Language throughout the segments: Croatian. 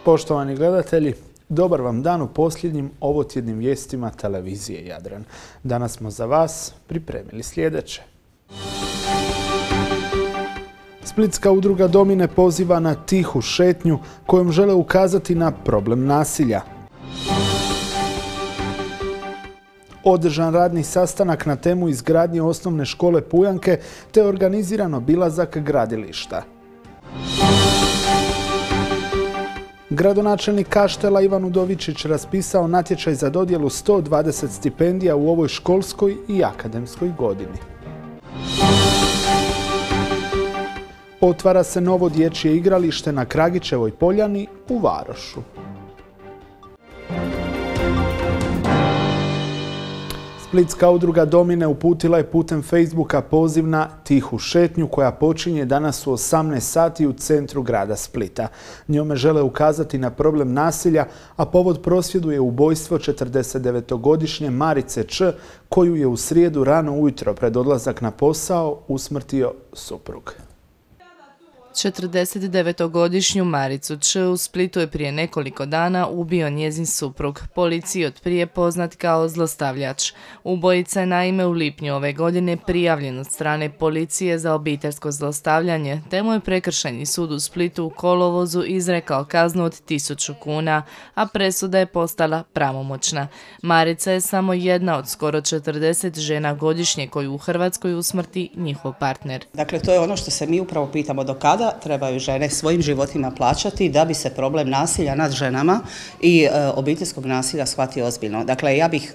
Poštovani gledatelji, dobar vam dan u posljednjim ovotjednim vijestima televizije Jadran. Danas smo za vas pripremili sljedeće. Splitska udruga Domine poziva na tihu šetnju kojom žele ukazati na problem nasilja. Održan radni sastanak na temu izgradnje osnovne škole Pujanke te organiziran obilazak gradilišta. Gradonačelnik Kaštela Ivan Udovičić raspisao natječaj za dodjelu 120 stipendija u ovoj školskoj i akademskoj godini. Otvara se novo dječje igralište na Kragićevoj poljani u Varošu. Splitska udruga Domine uputila je putem Facebooka poziv na tihu šetnju koja počinje danas u 18 sati u centru grada Splita. Njome žele ukazati na problem nasilja, a povod prosvjedu je ubojstvo 49-godišnje Marice Č, koju je u srijedu rano ujutro pred odlazak na posao usmrtio suprug. 49-godišnju Maricu Č u Splitu je prije nekoliko dana ubio njezin suprug, policiji od prije poznat kao zlostavljač. Ubojica je naime u lipnju ove godine prijavljen od strane policije za obiteljsko zlostavljanje, te mu je prekršajni sud u Splitu u kolovozu izrekao kaznu od 1000 kuna, a presuda je postala pravomoćna. Marica je samo jedna od skoro 40 žena godišnje koju u Hrvatskoj usmrti njihov partner. Dakle, to je ono što se mi upravo pitamo, do kada trebaju žene svojim životima plaćati da bi se problem nasilja nad ženama i obiteljskog nasilja shvatio ozbiljno. Dakle, ja bih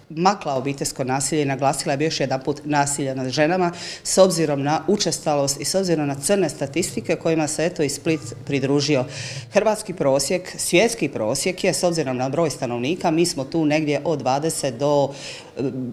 makla obiteljsko nasilje i naglasila bi još jedan put nasilje nad ženama s obzirom na učestalost i s obzirom na crne statistike kojima se eto i Split pridružio. Hrvatski prosjek, svjetski prosjek je s obzirom na broj stanovnika, mi smo tu negdje od 20 do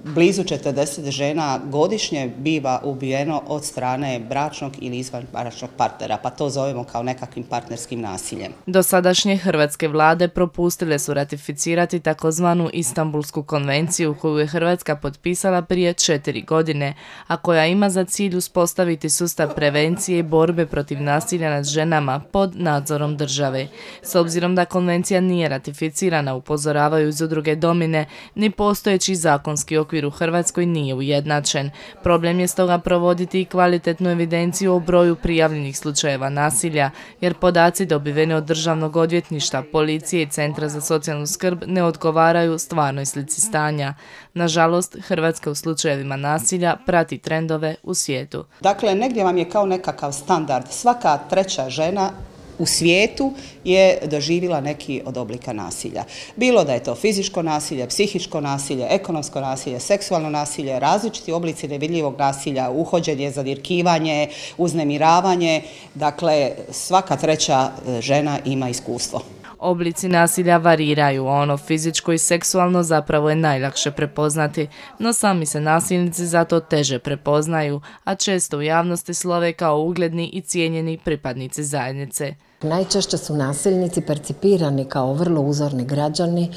blizu 40 žena godišnje biva ubijeno od strane bračnog ili izvanbračnog partnera, pa to zovemo kao nekakvim partnerskim nasiljem. Dosadašnje hrvatske vlade propustile su ratificirati takozvanu Istanbulsku konvenciju koju je Hrvatska potpisala prije 4 godine, a koja ima za cilj uspostaviti sustav prevencije i borbe protiv nasilja nad ženama pod nadzorom države. S obzirom da konvencija nije ratificirana, upozoravaju iz udruge Domine, ni postojeći zakonski okvir u Hrvatskoj nije ujednačen. Problem je stoga provoditi i kvalitetnu evidenciju o broju prijavljenih slučajeva nasilja, jer podaci dobiveni od Državnog odvjetništva, policije i Centra za socijalnu skrb ne odgovaraju stvarnoj slici stanja. Nažalost, Hrvatska u slučajevima nasilja prati trendove u svijetu. Dakle, negdje vam je kao nekakav standard. Svaka treća žena u svijetu je doživjela neki od oblika nasilja. Bilo da je to fizičko nasilje, psihičko nasilje, ekonomsko nasilje, seksualno nasilje, različiti oblici nevidljivog nasilja, uhođenje, zadirkivanje, uznemiravanje. Dakle, svaka treća žena ima iskustvo. Oblici nasilja variraju, a ono fizičko i seksualno zapravo je najlakše prepoznati, no sami se nasilnici zato teže prepoznaju, a često u javnosti slove kao ugledni i cijenjeni pripadnici zajednice. Najčešće su nasilnici percipirani kao vrlo uzorni građani,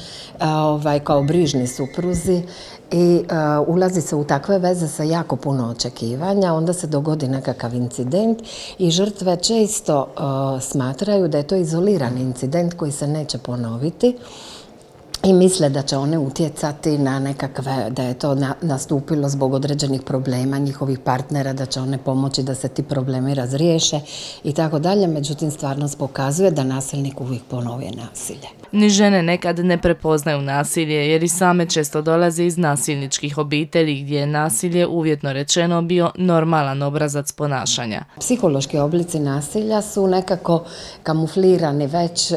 kao brižni supruzi i ulazi se u takve veze sa jako puno očekivanja, onda se dogodi nekakav incident i žrtve često smatraju da je to izolirani incident koji se neće ponoviti i misle da će one utjecati na nekakve, da je to nastupilo zbog određenih problema njihovih partnera, da će one pomoći da se ti problemi razriješe i tako dalje. Međutim, stvarnost pokazuje da nasilnik uvijek ponovi nasilje. Ni žene nekad ne prepoznaju nasilje jer i same često dolaze iz nasilničkih obitelji gdje je nasilje uvjetno rečeno bio normalan obrazac ponašanja. Psihološki oblici nasilja su nekako kamuflirani već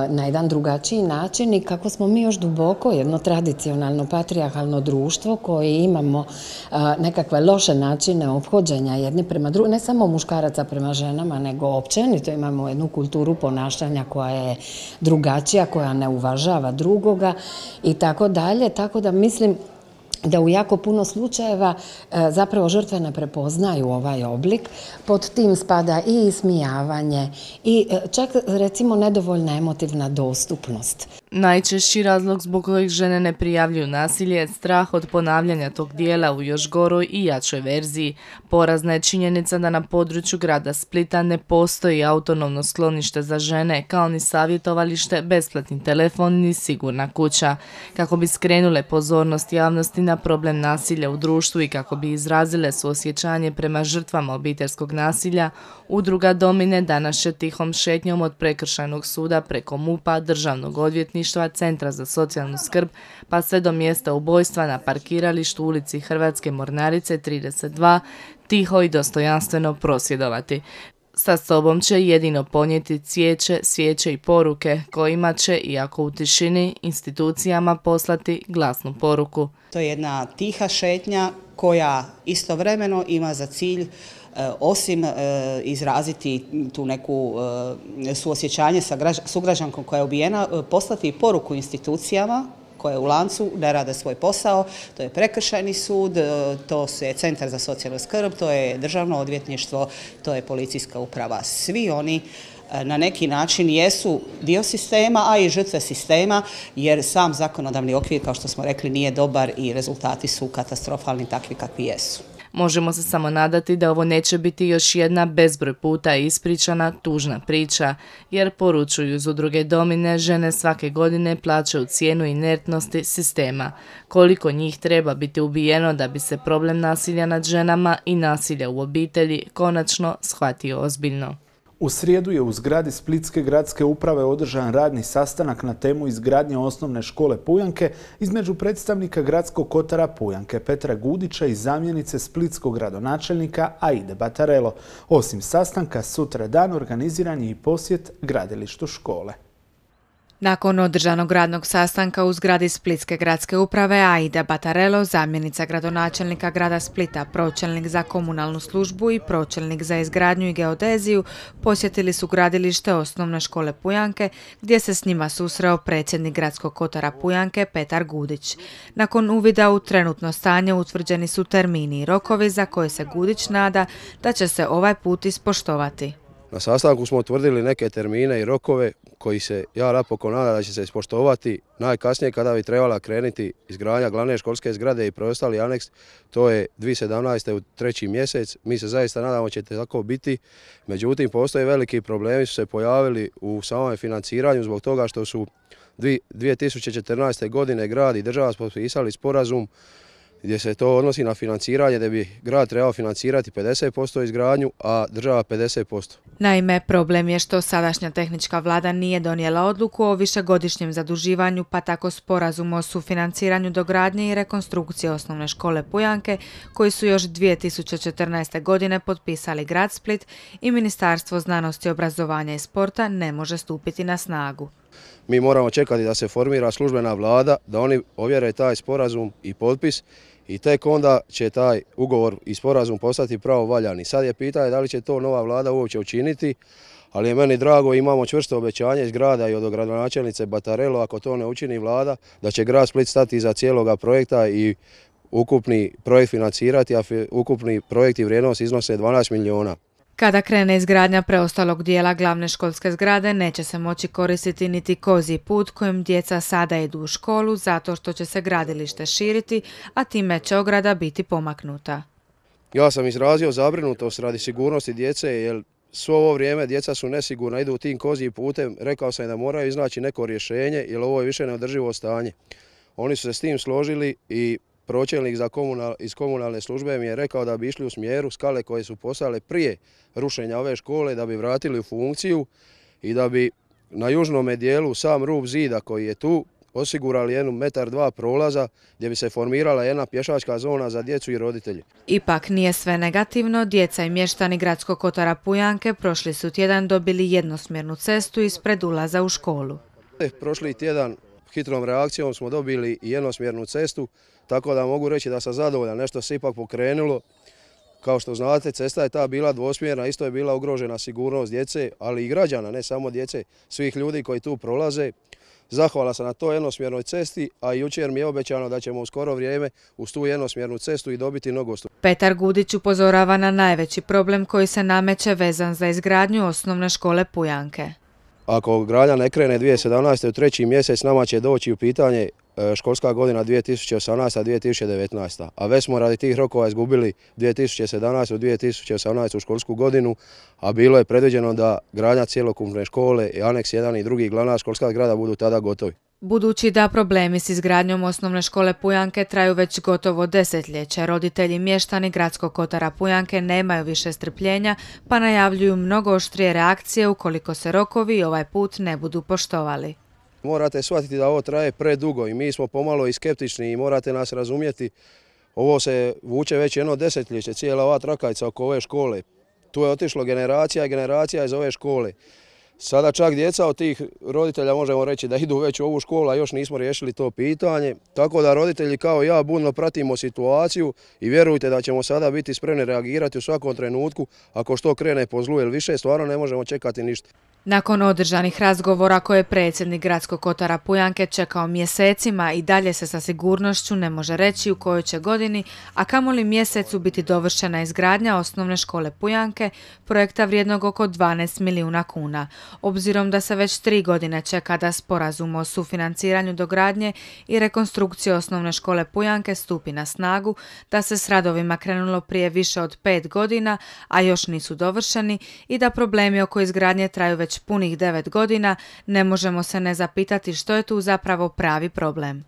na jedan drugačiji način i kako smo mi još duboko jedno tradicionalno patrijarhalno društvo koji imamo nekakve loše načine ophođenja jedni prema drugim, ne samo muškaraca prema ženama, nego općenito imamo jednu kulturu ponašanja koja je drugačija, koja ne uvažava drugoga i tako dalje, tako da mislim da u jako puno slučajeva zapravo žrtve ne prepoznaju ovaj oblik. Pod tim spada i ismijavanje i čak recimo nedovoljna emotivna dostupnost. Najčešći razlog zbog kojeg žene ne prijavljuju nasilje je strah od ponavljanja tog dijela u još goroj i jačoj verziji. Porazna je činjenica da na području grada Splita ne postoji autonomno sklonište za žene, kao ni savjetovalište, besplatni telefon ni sigurna kuća. Kako bi skrenule pozornost javnosti na problem nasilja u društvu i kako bi izrazile suosjećanje prema žrtvama obiteljskog nasilja, udruga Domine danas će tihom šetnjom od Prekršajnog suda preko MUP-a, Državnog odvjetništva, Centra za socijalnu skrb, pa sve do mjesta ubojstva na parkiralištu u ulici Hrvatske Mornarice 32, tiho i dostojanstveno prosvjedovati. Sa sobom će jedino ponijeti cvijeće, svijeće i poruke kojima će, iako u tišini, institucijama poslati glasnu poruku. To je jedna tiha šetnja koja istovremeno ima za cilj osim izraziti tu neku suosjećanje sa sugrađankom koja je ubijena, poslati poruku institucijama koje u lancu ne rade svoj posao. To je Prekršajni sud, to je Centar za socijalnu skrb, to je Državno odvjetništvo, to je Policijska uprava. Svi oni na neki način jesu dio sistema, a i žrtve sistema, jer sam zakonodavni okvir, kao što smo rekli, nije dobar i rezultati su katastrofalni takvi kakvi jesu. Možemo se samo nadati da ovo neće biti još jedna bezbroj puta ispričana tužna priča, jer poručuju iz udruge Domine, žene svake godine plaćaju cijenu inertnosti sistema. Koliko njih treba biti ubijeno da bi se problem nasilja nad ženama i nasilja u obitelji konačno shvatio ozbiljno. U srijedu je u zgradi Splitske gradske uprave održan radni sastanak na temu izgradnje osnovne škole Pujanke između predstavnika gradskog kotara Pujanke Petra Gudića i zamjenice splitskog gradonačelnika Aide Batarelo. Osim sastanka, sutra dan organiziran je i posjet gradilištu škole. Nakon održanog radnog sastanka u zgradi Splitske gradske uprave, Aida Batarelo, zamjenica gradonačelnika grada Splita, pročelnik za komunalnu službu i pročelnik za izgradnju i geodeziju, posjetili su gradilište osnovne škole Pujanke, gdje se s njima susreo predsjednik gradskog kotara Pujanke Petar Gudić. Nakon uvida u trenutno stanje utvrđeni su termini i rokovi za koje se Gudić nada da će se ovaj put ispoštovati. Na sastanku smo utvrdili neke termine i rokove koji se ja napokon nadam da će se ispoštovati najkasnije kada bi trebala krenuti izgradnja glavne školske zgrade i preostali aneks, to je 2017. u 3. mjesec. Mi se zaista nadamo da će tako biti, međutim postoje veliki problemi su se pojavili u samom financiranju zbog toga što su 2014. godine grad i država potpisali sporazum gdje se to odnosi na financiranje, da bi grad trebao financirati 50% izgradnju, a država 50%. Naime, problem je što sadašnja tehnička vlada nije donijela odluku o višegodišnjem zaduživanju, pa tako sporazum o sufinanciranju dogradnje i rekonstrukcije osnovne škole Pujanke, koji su još 2014. godine potpisali grad Split i Ministarstvo znanosti, obrazovanja i sporta, ne može stupiti na snagu. Mi moramo čekati da se formira službena vlada, da oni ovjere taj sporazum i potpis i tek onda će taj ugovor i sporazum postati pravovaljani. Sad je pitanje da li će to nova vlada uopće učiniti, ali je meni drago, imamo čvrsto obećanje iz grada i od gradonačelnice Batarelo, ako to ne učini vlada, da će grad Split stati iza cijeloga projekta i ukupni projekt financirati, a ukupni projekt i vrijednost iznose 12 milijuna. Kada krene izgradnja preostalog dijela glavne školske zgrade, neće se moći koristiti niti kozji put kojim djeca sada idu u školu zato što će se gradilište širiti, a time će ograda biti pomaknuta. Ja sam izrazio zabrinutost radi sigurnosti djece, jer svo ovo vrijeme djeca su nesigurna, idu tim kozjim putem. Rekao sam da moraju iznaći neko rješenje, jer ovo je više neodrživo stanje. Oni su se s tim složili i pročelnik iz komunalne službe mi je rekao da bi išli u smjeru skale koje su postale prije rušenja ove škole, da bi vratili u funkciju i da bi na južnom dijelu sam rub zida koji je tu osigurali 1,2 m prolaza gdje bi se formirala jedna pješačka zona za djecu i roditelje. Ipak nije sve negativno. Djeca i mještani gradskog kotara Pujanke prošli su tjedan dobili jednosmjernu cestu ispred ulaza u školu. Prošli tjedan hitrom reakcijom smo dobili jednosmjernu cestu, tako da mogu reći da sam zadovoljan, nešto se ipak pokrenulo. Kao što znate, cesta je ta bila dvosmjerna, isto je bila ugrožena sigurnost djece, ali i građana, ne samo djece, svih ljudi koji tu prolaze. Zahvala sam na toj jednosmjernoj cesti, a jučer mi je obećano da ćemo u skoro vrijeme uz tu jednosmjernu cestu i dobiti nogostup. Petar Gudić upozorava na najveći problem koji se nameće vezan za izgradnju osnovne škole Pujanke. ako gradnja ne krene 2017. u 3. mjesec, nama će doći u pitanje školska godina 2018-2019. A već smo radi tih rokova izgubili 2017-2018. školsku godinu, a bilo je predviđeno da gradnja cjelokupne škole i aneks 1 i 2 glavna školska zgrada budu tada gotovi. Budući da problemi s izgradnjom osnovne škole Pujanke traju već gotovo desetljeće, roditelji i mještani Gradskog kotara Pujanke nemaju više strpljenja pa najavljuju mnogo oštrije reakcije ukoliko se rokovi ovaj put ne budu poštovali. Morate shvatiti da ovo traje predugo i mi smo pomalo i skeptični i morate nas razumjeti. Ovo se vuče već jedno desetljeće, cijela ova trakavica oko ove škole. Tu je otišlo generacija i generacija iz ove škole. Sada čak djeca od tih roditelja možemo reći da idu već u ovu školu, a još nismo riješili to pitanje. Tako da roditelji kao ja budno pratimo situaciju i vjerujte da ćemo sada biti spremni reagirati u svakom trenutku ako što krene po zlu, jer više stvarno ne možemo čekati ništa. Nakon održanih razgovora koje je predsjednik Gradskog kotara Pujanke čekao mjesecima i dalje se sa sigurnošću ne može reći u kojoj će godini, a kamoli mjesecu biti dovršena izgradnja osnovne škole Pujanke, projekta vrijednog oko 12 milijuna kuna. Obzirom da se već 3 godine čeka da sporazum o sufinanciranju dogradnje i rekonstrukcije osnovne škole Pujanke stupi na snagu, da se s radovima krenulo prije više od 5 godina, a još nisu dovršeni i da problemi oko izgradnje traju već punih 9 godina, ne možemo se ne zapitati što je tu zapravo pravi problem.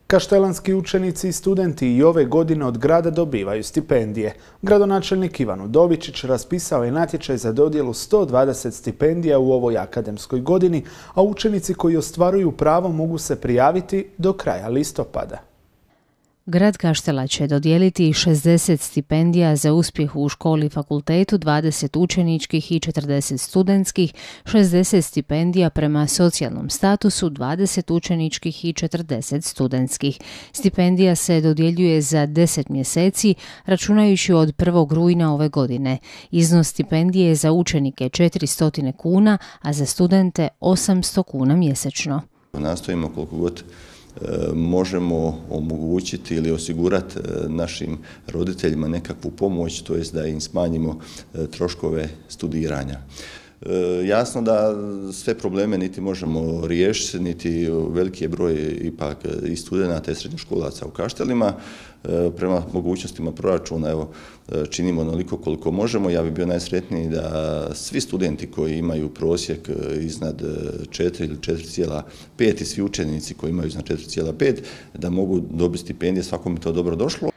Kaštelanski učenici i studenti i ove godine od grada dobivaju stipendije. Gradonačelnik Ivan Udovičić raspisao je natječaj za dodjelu 120 stipendija u ovoj akademskoj godini, a učenici koji ostvaruju pravo mogu se prijaviti do kraja listopada. Grad Kaštela će dodijeliti 60 stipendija za uspjeh u školi i fakultetu, 20 učeničkih i 40 studentskih, 60 stipendija prema socijalnom statusu, 20 učeničkih i 40 studentskih. Stipendija se dodjeljuje za 10 mjeseci, računajući od 1. rujna ove godine. Iznos stipendije je za učenike 400 kuna, a za studente 800 kuna mjesečno. Nastojimo koliko god možemo omogućiti ili osigurati našim roditeljima nekakvu pomoć, to jest da im smanjimo troškove studiranja. Jasno da sve probleme niti možemo riješiti, niti veliki je broj ipak i studenata i srednjoškolaca u Kaštelima. Prema mogućnostima proračuna evo, činimo onoliko koliko možemo. Ja bih bio najsretniji da svi studenti koji imaju prosjek iznad 4 ili 4,5 i svi učenici koji imaju iznad 4,5 da mogu dobiti stipendije, svakom je to dobro došlo.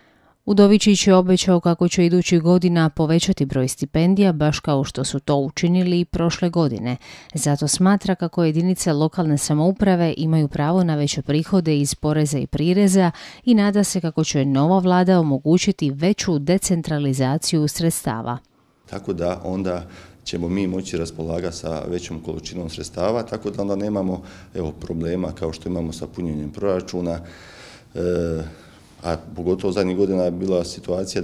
Udovičić je obećao kako će idućih godina povećati broj stipendija, baš kao što su to učinili i prošle godine. Zato smatra kako jedinice lokalne samouprave imaju pravo na veće prihode iz poreza i prireza i nada se kako će nova vlada omogućiti veću decentralizaciju sredstava. Tako da onda ćemo mi moći raspolagati sa većom količinom sredstava, tako da onda nemamo problema kao što imamo sa punjenjem proračuna, a pogotovo zadnjih godina je bila situacija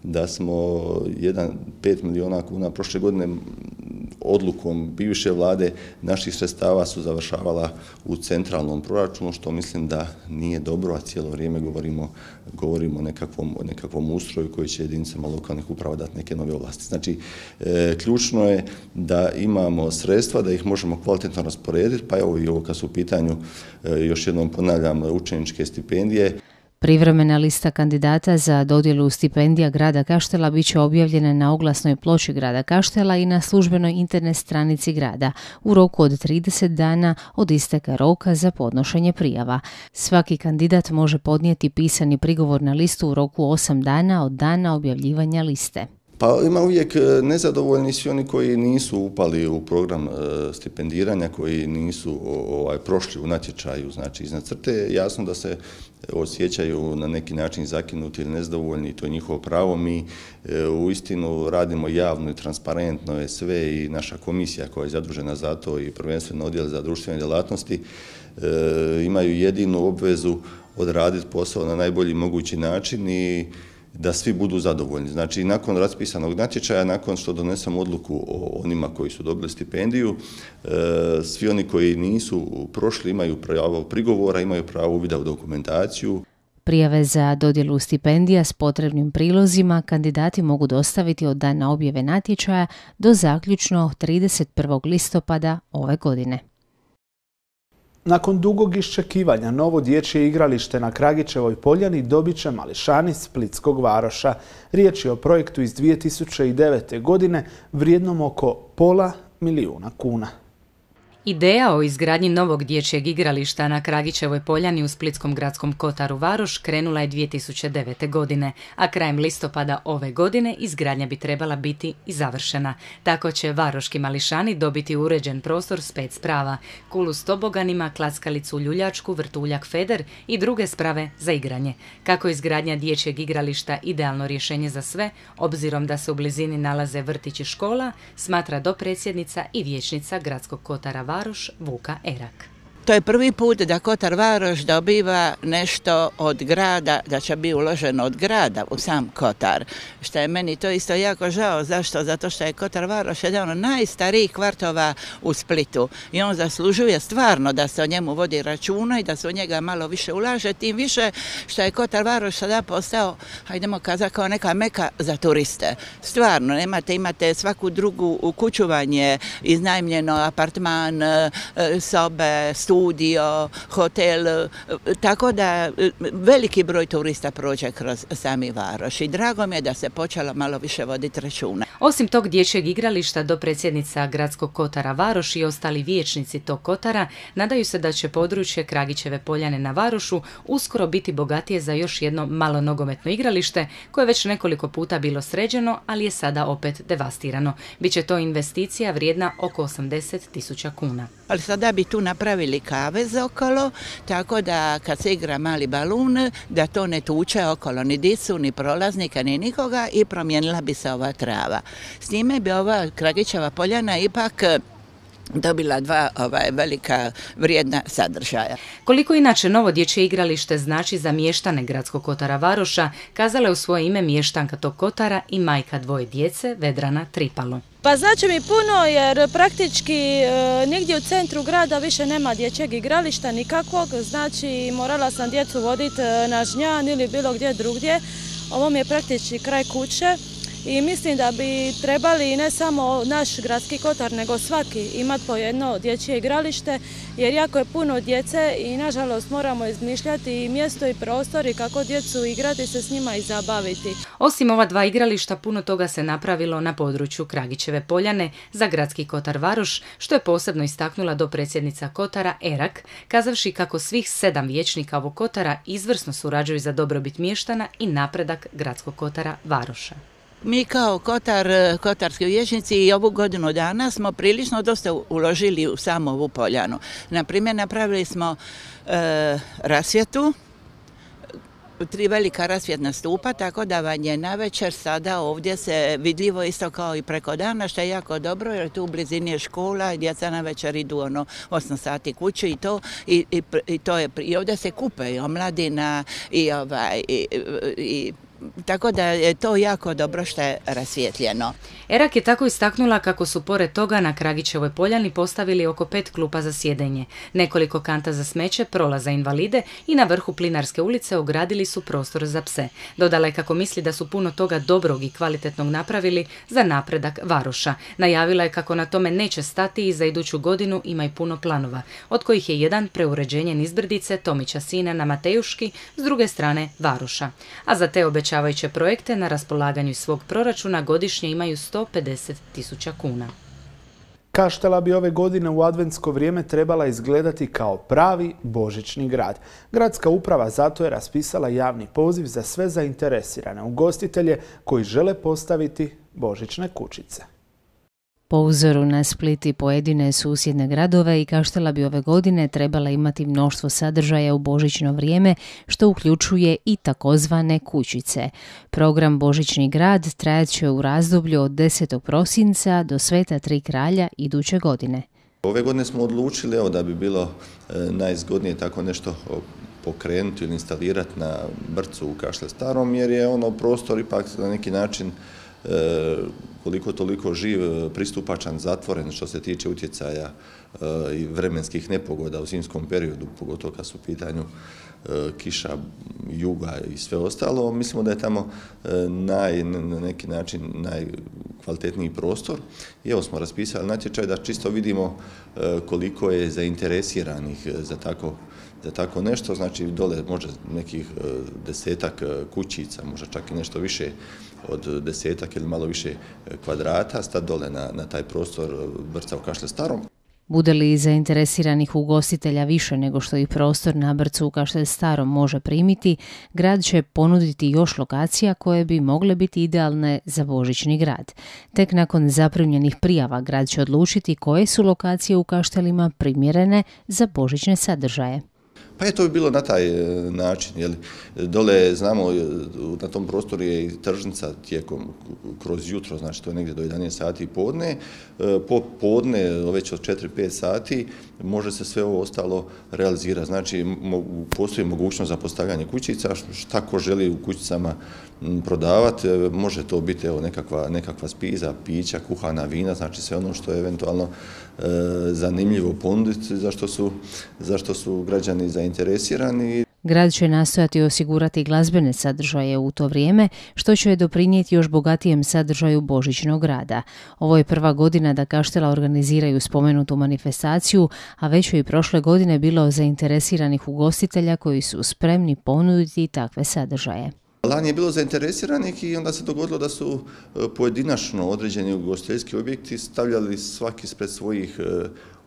da smo 5 milijuna kuna prošle godine odlukom bivše vlade naših sredstava su završavala u centralnom proračunu, što mislim da nije dobro, a cijelo vrijeme govorimo o nekakvom ustroju koji će jedinicama lokalnih uprava dati neke nove ovlasti. Znači, ključno je da imamo sredstva, da ih možemo kvalitetno rasporediti, pa evo i ovo kad su u pitanju, još jednom ponavljam, učeničke stipendije. Privremena lista kandidata za dodjelu stipendija grada Kaštela bit će objavljena na oglasnoj ploči grada Kaštela i na službenoj internet stranici grada u roku od 30 dana od isteka roka za podnošenje prijava. Svaki kandidat može podnijeti pisani prigovor na listu u roku 8 dana od dana objavljivanja liste. Pa ima uvijek nezadovoljni svi oni koji nisu upali u program stipendiranja, koji nisu prošli u natječaju, znači iznad crte. Jasno da se osjećaju na neki način zakinuti ili nezadovoljni, to je njihovo pravo. Mi uistinu radimo javno i transparentno je sve i naša komisija koja je zadužena za to i prvenstveno odjel za društvene djelatnosti imaju jedinu obvezu odraditi posao na najbolji mogući način i da svi budu zadovoljni. Znači, nakon raspisanog natječaja, nakon što donesemo odluku o onima koji su dobili stipendiju, svi oni koji nisu prošli imaju pravo prigovora, imaju pravo uvida u dokumentaciju. Prijave za dodjelu stipendija s potrebnim prilozima kandidati mogu dostaviti od dana objave natječaja do zaključno 31. listopada ove godine. Nakon dugog iščekivanja, novo dječje igralište na Kragićevoj poljani dobit će mališani Splitskog Varoša. Riječ je o projektu iz 2009. godine vrijednom oko $500.000 kuna. Ideja o izgradnji novog dječjeg igrališta na Kragićevoj poljani u Splitskom gradskom kotaru Varoš krenula je 2009. godine, a krajem listopada ove godine izgradnja bi trebala biti i završena. Tako će varoški mališani dobiti uređen prostor s 5 sprava, kulu s toboganima, klackalicu ljuljačku, vrtuljak feder i druge sprave za igranje. Kako je izgradnja dječjeg igrališta idealno rješenje za sve, obzirom da se u blizini nalaze vrtić i škola, smatra dopredsjednica i vijećnica gradskog kotara Varoš Vuka Erak. To je prvi put da Kotar Varoš dobiva nešto od grada, da će biti uloženo od grada u sam Kotar. Što je meni to isto jako žao. Zašto? Zato što je Kotar Varoš jedan od najstarijih kvartova u Splitu. I on zaslužuje stvarno da se o njemu vodi računa i da se u njega malo više ulaže. Tim više što je Kotar Varoš sada postao, hajdemo kazati, kao neka meka za turiste. Stvarno, imate svaku drugu kuću vam je iznajmljeno, apartman, sobe, studio, hotel, tako da veliki broj turista prođe kroz sami Varoš i drago mi je da se počelo malo više voditi računa. Osim tog dječjeg igrališta, dopredsjednica gradskog kotara Varoš i ostali vijećnici tog kotara nadaju se da će područje Kragićeve poljane na Varošu uskoro biti bogatije za još jedno malo nogometno igralište koje je već nekoliko puta bilo sređeno, ali je sada opet devastirano. Biće to investicija vrijedna oko 80.000 kuna. Ali sada bi tu napravili kavez okolo, tako da kad se igra mali balun, da to ne tuče okolo ni dicu, ni prolaznika, ni nikoga i promijenila bi se ova trava. S time bi ova Kragićeva poljana ipak dobila dva velika vrijedna sadržaja. Koliko inače novo dječje igralište znači za mještane gradskog kotara Varoša, kazala je u svoje ime mještanka tog kotara i majka dvoje djece, Vedrana Tripalo. Pa znači mi puno jer praktički nigdje u centru grada više nema dječjeg igrališta nikakvog, znači morala sam djecu voditi na Žnjan ili bilo gdje drugdje. Ovo mi je praktički kraj kuće. I mislim da bi trebali ne samo naš gradski kotar, nego svaki imati po jedno dječje igralište, jer jako je puno djece i nažalost moramo izmišljati i mjesto i prostor i kako djecu igrati se s njima i zabaviti. Osim ova dva igrališta, puno toga se napravilo na području Kragićeve poljane za gradski kotar Varoš, što je posebno istaknula dopredsjednica kotara Erak, kazavši kako svih 7 vijećnika ovog kotara izvrsno surađuju za dobrobit mještana i napredak gradskog kotara Varoša. Mi kao kotarski vijećnici i ovu godinu dana smo prilično dosta uložili u samu ovu poljanu. Naprimjer, napravili smo rasvjetu, 3 velika rasvjetna stupa, tako da vam je navečer sada ovdje se vidljivo isto kao i preko dana, što je jako dobro jer tu u blizini je škola i djeca navečer idu 8 sati kući i ovdje se kupe i omladina i tako da je to jako dobro što je rasvjetljeno. Erak je tako istaknula kako su pored toga na Kragićevoj poljani postavili oko 5 klupa za sjedenje, nekoliko kanta za smeće, prolaz za invalide i na vrhu Plinarske ulice ogradili su prostor za pse. Dodala je kako misli da su puno toga dobrog i kvalitetnog napravili za napredak Varoša. Najavila je kako na tome neće stati i za iduću godinu ima i puno planova, od kojih je jedan preuređenje nizbrdice Tomića Sina na Matejuški, s druge strane Varoša. A za te obećavajuće projekte na raspolaganju svog proračuna godišnje imaju 150.000 kuna. Kaštela bi ove godine u adventsko vrijeme trebala izgledati kao pravi božićni grad. Gradska uprava zato je raspisala javni poziv za sve zainteresirane ugostitelje koji žele postaviti božićne kućice. Po uzoru na Split i pojedine susjedne gradove i Kaštela bi ove godine trebala imati mnoštvo sadržaja u božićno vrijeme, što uključuje i takozvane kućice. Program Božićni grad trajat će u razdoblju od 10. prosinca do Sveta Tri kralja iduće godine. Ove godine smo odlučili da bi bilo najzgodnije tako nešto pokrenuti ili instalirati na Brcu u Kaštel Starom, jer je prostor ipak na neki način koliko toliko živ, pristupačan, zatvoren što se tiče utjecaja i vremenskih nepogoda u zimskom periodu, pogotovo kad su u pitanju kiša, juga i sve ostalo. Mislimo da je tamo na neki način najkvalitetniji prostor. I evo smo raspisali natječaj da čisto vidimo koliko je zainteresiranih za tako nešto. Znači dole može nekih 10-ak kućica, možda čak i nešto više od 10-ak ili malo više kvadrata, stati dole na taj prostor Brca u Kaštel Starom. Bude li zainteresiranih ugostitelja više nego što i prostor na Brcu u Kaštel Starom može primiti, grad će ponuditi još lokacija koje bi mogle biti idealne za božićni grad. Tek nakon zaprimljenih prijava grad će odlučiti koje su lokacije u Kaštelima primjerene za božićne sadržaje. Pa je to bilo na taj način. Jel? Dole, znamo, na tom prostoru je i tržnica kroz jutro, znači to je negdje do 11 sati podne. Podne, već od 4-5 sati, može se sve ovo ostalo realizirati. Znači, postoji mogućnost za postavljanje kućica, šta ko želi u kućicama prodavati, može to biti nekakva spiza, pića, kuhana vina, znači sve ono što je eventualno zanimljivo ponuditi, zašto su građani zainteresirani. Grad će nastojati osigurati glazbene sadržaje u to vrijeme, što će doprinijeti još bogatijem sadržaju božićnog rada. Ovo je prva godina da Kaštela organiziraju spomenutu manifestaciju, a već je i prošle godine bilo zainteresiranih ugostitelja koji su spremni ponuditi takve sadržaje. Lani je bilo zainteresiranih i onda se dogodilo da su pojedinačno određeni ugostiteljski objekti stavljali svaki ispred svojih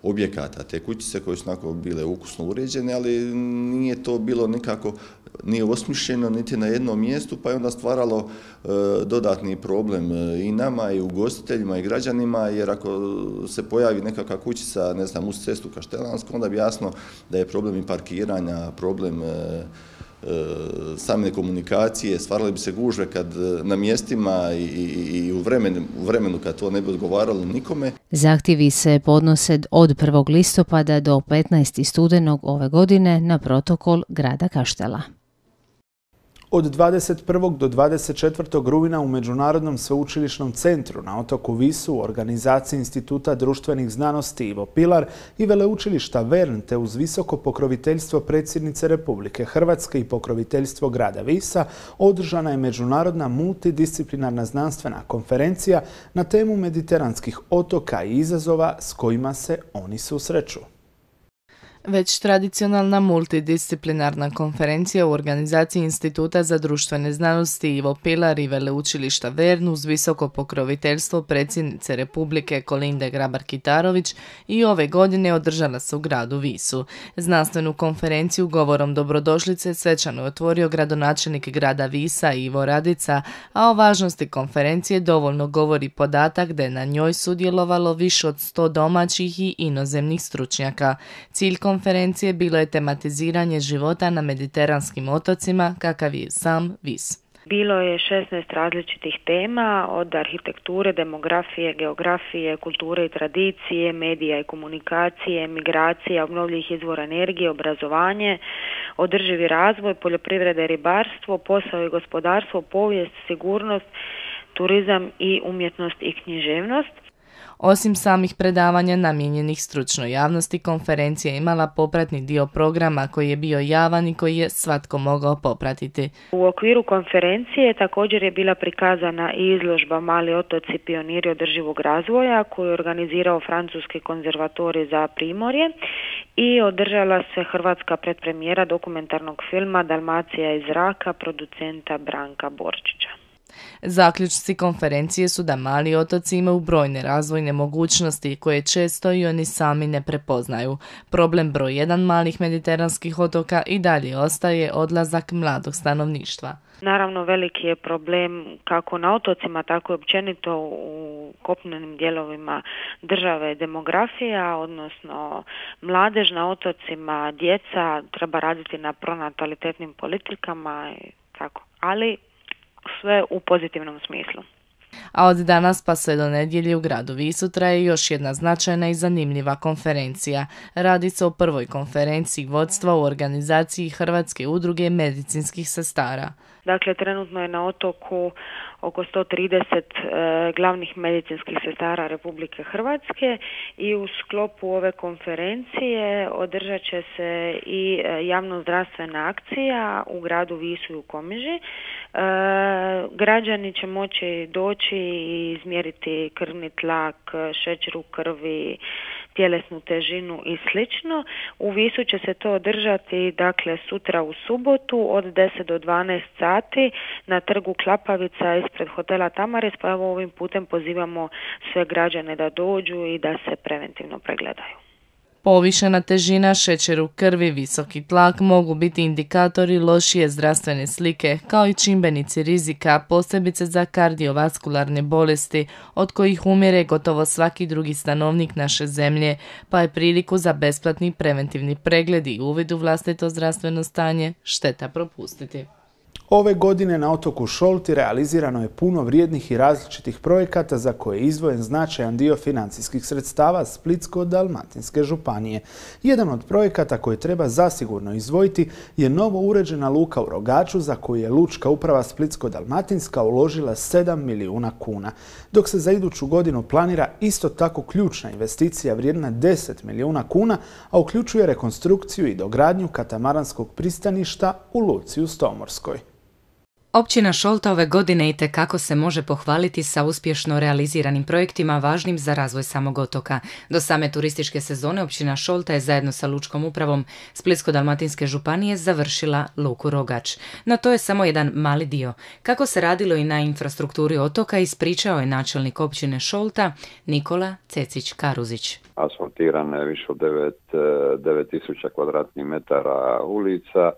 objekata, te kućice koje su onako bile ukusno uređene, ali nije to bilo nikako, nije osmišljeno niti na jednom mjestu, pa je onda stvaralo dodatni problem i nama, i ugostiteljima, i građanima, jer ako se pojavi nekakva kućica, ne znam, uz cestu Kaštelansku, onda bi jasno da je problem i parkiranja, problem same komunikacije, stvarale bi se gužve na mjestima i u vremenu kad to ne bi odgovaralo nikome. Zahtjevi se podnose od 1. listopada do 15. studenog ove godine na protokol grada Kaštela. Od 21. do 24. rujna u Međunarodnom sveučilišnom centru na otoku Visu u organizaciji Instituta društvenih znanosti Ivo Pilar i Veleučilišta Vern te uz visoko pokroviteljstvo predsjednice Republike Hrvatske i pokroviteljstvo grada Visa održana je međunarodna multidisciplinarna znanstvena konferencija na temu mediteranskih otoka i izazova s kojima se oni susreću. Već tradicionalna multidisciplinarna konferencija u organizaciji Instituta za društvene znanosti Ivo Pilar i Veleučilišta Vern uz visoko pokroviteljstvo predsjednice Republike Kolinde Grabar-Kitarović i ove godine održala se u gradu Visu. Znanstvenu konferenciju govorom dobrodošlice svečano je otvorio gradonačelnik grada Visa Ivo Radica, a o važnosti konferencije dovoljno govori podatak da je na njoj sudjelovalo više od 100 domaćih i inozemnih stručnjaka. Cilj konferencije bilo je tematiziranje života na mediteranskim otocima, kakav je sam Vis. Bilo je 16 različitih tema, od arhitekture, demografije, geografije, kulture i tradicije, medija i komunikacije, migracija, obnovljivih izvora energije, obrazovanje, održivi razvoj, poljoprivreda i ribarstvo, posao i gospodarstvo, povijest, sigurnost, turizam i umjetnost i književnost. Osim samih predavanja namijenjenih stručnoj javnosti, konferencija je imala popratni dio programa koji je bio javan i koji je svatko mogao popratiti. U okviru konferencije također je bila prikazana i izložba Mali otoci pioniri održivog razvoja koju je organizirao Francuski konzervatorij za Primorje i održala se hrvatska predpremijera dokumentarnog filma Dalmacija iz zraka producenta Branka Borčića. Zaključci konferencije su da mali otoci imaju brojne razvojne mogućnosti koje često i oni sami ne prepoznaju. Problem broj 1 malih mediteranskih otoka i dalje ostaje odlazak mladog stanovništva. Naravno, veliki je problem kako na otocima, tako i općenito u kopnenim dijelovima države demografija, odnosno mladež na otocima, djeca, treba raditi na pronatalitetnim politikama i tako, ali sve u pozitivnom smislu. A od danas pa sve do nedjelje u gradu Visu traje još jedna značajna i zanimljiva konferencija. Radi se o prvoj konferenciji vodstva u organizaciji Hrvatske udruge medicinskih sestara. Dakle, trenutno je na otoku oko 130 glavnih medicinskih sestara Republike Hrvatske i u sklopu ove konferencije održat će se i javno-zdravstvena akcija u gradu Visu i u Komiži. Građani će moći doći i izmjeriti krvni tlak, šećer u krvi, tjelesnu težinu i slično. U Visu će se to održati dakle sutra u subotu od 10 do 12 sati na trgu Klapavica ispred hotela Tamaris, pa evo ovim putem pozivamo sve građane da dođu i da se preventivno pregledaju. Povišena težina, šećer u krvi, visoki tlak mogu biti indikatori lošije zdravstvene slike, kao i čimbenici rizika, posebice za kardiovaskularne bolesti, od kojih umire gotovo svaki drugi stanovnik naše zemlje, pa je priliku za besplatni preventivni pregled i uvid u vlastito zdravstveno stanje šteta propustiti. Ove godine na otoku Šolti realizirano je puno vrijednih i različitih projekata za koje je izdvojen značajan dio financijskih sredstava Splitsko-dalmatinske županije. Jedan od projekata koje treba zasigurno izdvojiti je novo uređena luka u Rogaču za koju je Lučka uprava Splitsko-dalmatinska uložila 7 milijuna kuna, dok se za iduću godinu planira isto tako ključna investicija vrijedna 10 milijuna kuna, a uključuje rekonstrukciju i dogradnju katamaranskog pristaništa u luci u Stomorskoj. Općina Šolta ove godine itekako se može pohvaliti sa uspješno realiziranim projektima važnim za razvoj samog otoka. Do same turističke sezone općina Šolta je zajedno sa Lučkom upravom Splitsko-dalmatinske županije završila luku Rogač. No to je samo jedan mali dio. Kako se radilo i na infrastrukturi otoka ispričao je načelnik općine Šolta Nikola Cecić-Karuzić. Asfaltirano je više od 9.000 kvadratnih metara ulica,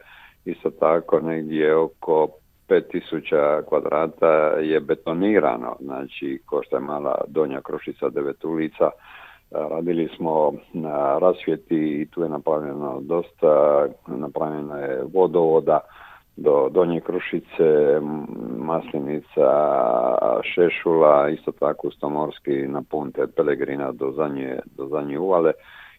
isto tako negdje oko 5.000 kvadrata je betonirano, znači ko što je mala Donja Krušica, 9 ulica. Radili smo na rasvjeti i tu je napravljeno dosta, napravljeno je vodovoda do Donje Krušice, Maslinica, Šešula, isto tako Stomorski na Punte Pelegrina do zadnje uvale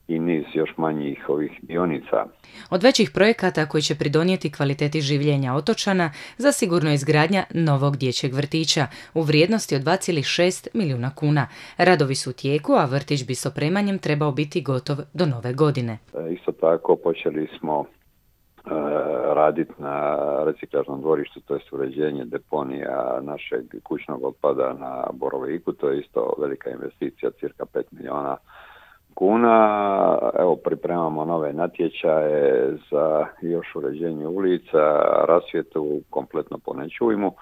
i niz još manjih ovih dionica. Od većih projekata koji će pridonijeti kvaliteti življenja otočana zasigurno je izgradnja novog dječjeg vrtića u vrijednosti od 2,6 milijuna kuna. Radovi su u tijeku, a vrtić bi s opremanjem trebao biti gotov do nove godine. Isto tako počeli smo raditi na reciklažnom dvorištu, to je uređenje deponija našeg kućnog otpada na Boroviku, to je isto velika investicija, cirka 5 milijuna kuna. Evo, pripremamo nove natječaje za još uređenje ulica, rasvjetu kompletno po Nečujmu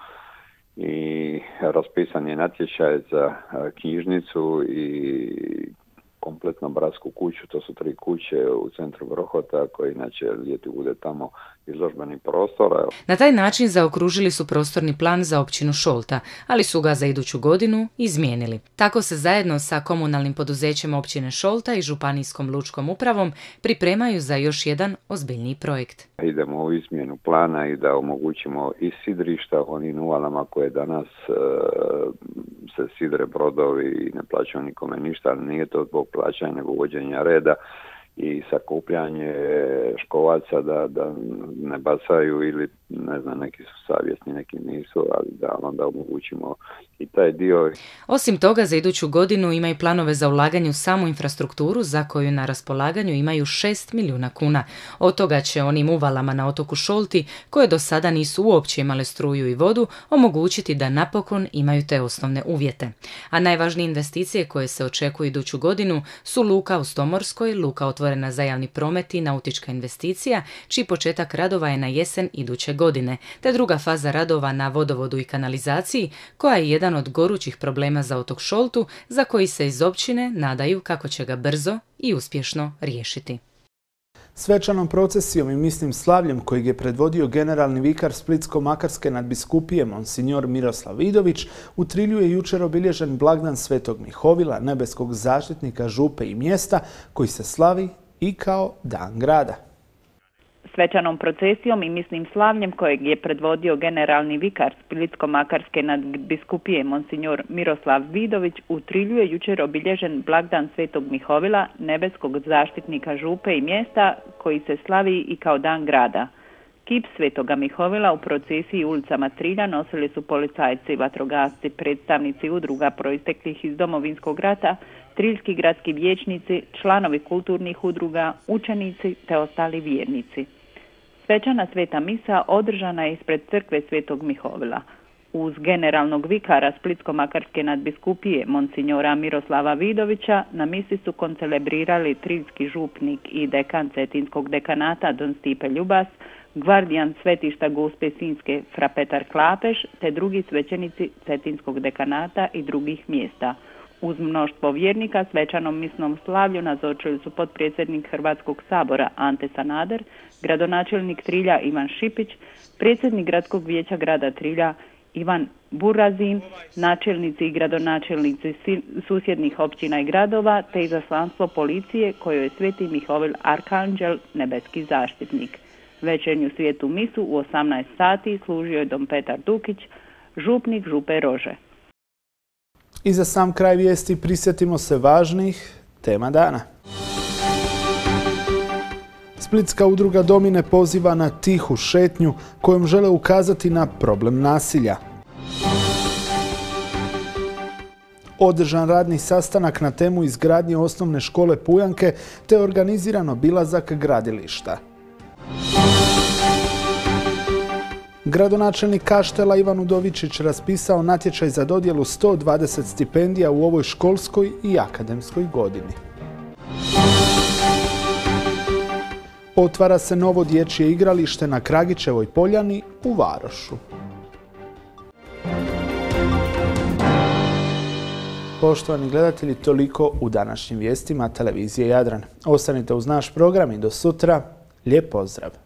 i raspisan je natječaj za knjižnicu i kompletno bratsku kuću, to su 3 kuće u centru Grohota koji inače ljeti bude tamo izložbeni prostor. Na taj način zaokružili su prostorni plan za općinu Šolta, ali su ga za iduću godinu izmijenili. Tako se zajedno sa komunalnim poduzećem općine Šolta i županijskom lučkom upravom pripremaju za još jedan ozbiljniji projekt. Idemo u izmjenu plana i da omogućimo i sidrišta onim uvalama koje danas se sidre brodovi i ne plaćaju nikome ništa, ali nije to zbog plaćanja nego uvođenja reda i sakupljanje škovaca da ne bacaju ili ne znam, neki su savjesni, neki nisu, ali da onda omogućimo i taj dio. Osim toga, za iduću godinu imaju planove za ulaganje u samu infrastrukturu za koju na raspolaganju imaju 6 milijuna kuna. Od toga će onim uvalama na otoku Šolti, koje do sada nisu uopće imale struju i vodu, omogućiti da napokon imaju te osnovne uvjete. A najvažnije investicije koje se očekuju iduću godinu su luka u Stomorskoj, luka otvorena za javni promet i nautička investicija, čiji početak radova je na jesen iduće godine, te druga faza radova na vodovodu i kanalizaciji, koja je jedan od gorućih problema za otok Šoltu, za koji se iz općine nadaju kako će ga brzo i uspješno riješiti. Svečanom procesijom i misnim slavljem kojeg je predvodio generalni vikar Splitsko-makarske nadbiskupije Monsignor Miroslav Vidović, u Trilju je jučer obilježen blagdan Svetog Mihovila, nebeskog zaštitnika župe i mjesta, koji se slavi i kao dan grada. Svečanom procesijom i misnim slavljem kojeg je predvodio generalni vikar Splitsko-makarske nadbiskupije monsignor Miroslav Vidović u Trilju je jučer obilježen blagdan Svetog Mihovila, nebeskog zaštitnika župe i mjesta koji se slavi i kao dan grada. Kip Svetoga Mihovila u procesiji ulicama Trilja nosili su policajci, vatrogasci, predstavnici udruga proisteklih iz Domovinskog rata, triljski gradski vijećnici, članovi kulturnih udruga, učenici te ostali vjernici. Svečana sveta misa održana je ispred crkve Svetog Mihovila. Uz generalnog vikara Splitsko-makarske nadbiskupije monsignora Miroslava Vidovića na misi su koncelebrirali triljski župnik i dekan Cetinskog dekanata don Stipe Ljubas, gvardijan svetišta Gospe Sinjske fra Petar Klapeš te drugi svećenici Cetinskog dekanata i drugih mjesta. Uz mnoštvo vjernika svečanom misnom slavlju nazočili su potpredsjednik Hrvatskog sabora Ante Sanader, gradonačelnik Trilja Ivan Šipić, predsjednik gradskog vijeća grada Trilja Ivan Burazin, načelnici i gradonačelnici susjednih općina i gradova te izaslanstvo policije kojoj je Sveti Mihovil Arkanđel, nebeski zaštitnik. Večernju svijetu misu u 18 sati služio je dom Petar Dukić, župnik župe Rože. I za sam kraj vijesti prisjetimo se važnih tema dana. Splitska udruga Domine poziva na tihu šetnju kojom žele ukazati na problem nasilja. Održan radni sastanak na temu izgradnje osnovne škole Pujanke te organiziran obilazak gradilišta. Gradonačelnik Kaštela Ivan Udovičić raspisao natječaj za dodjelu 120 stipendija u ovoj školskoj i akademskoj godini. Otvara se novo dječje igralište na Kragićevoj poljani u Varošu. Poštovani gledatelji, toliko u današnjim vijestima televizije Jadran. Ostanite uz naš program i do sutra. Lijep pozdrav!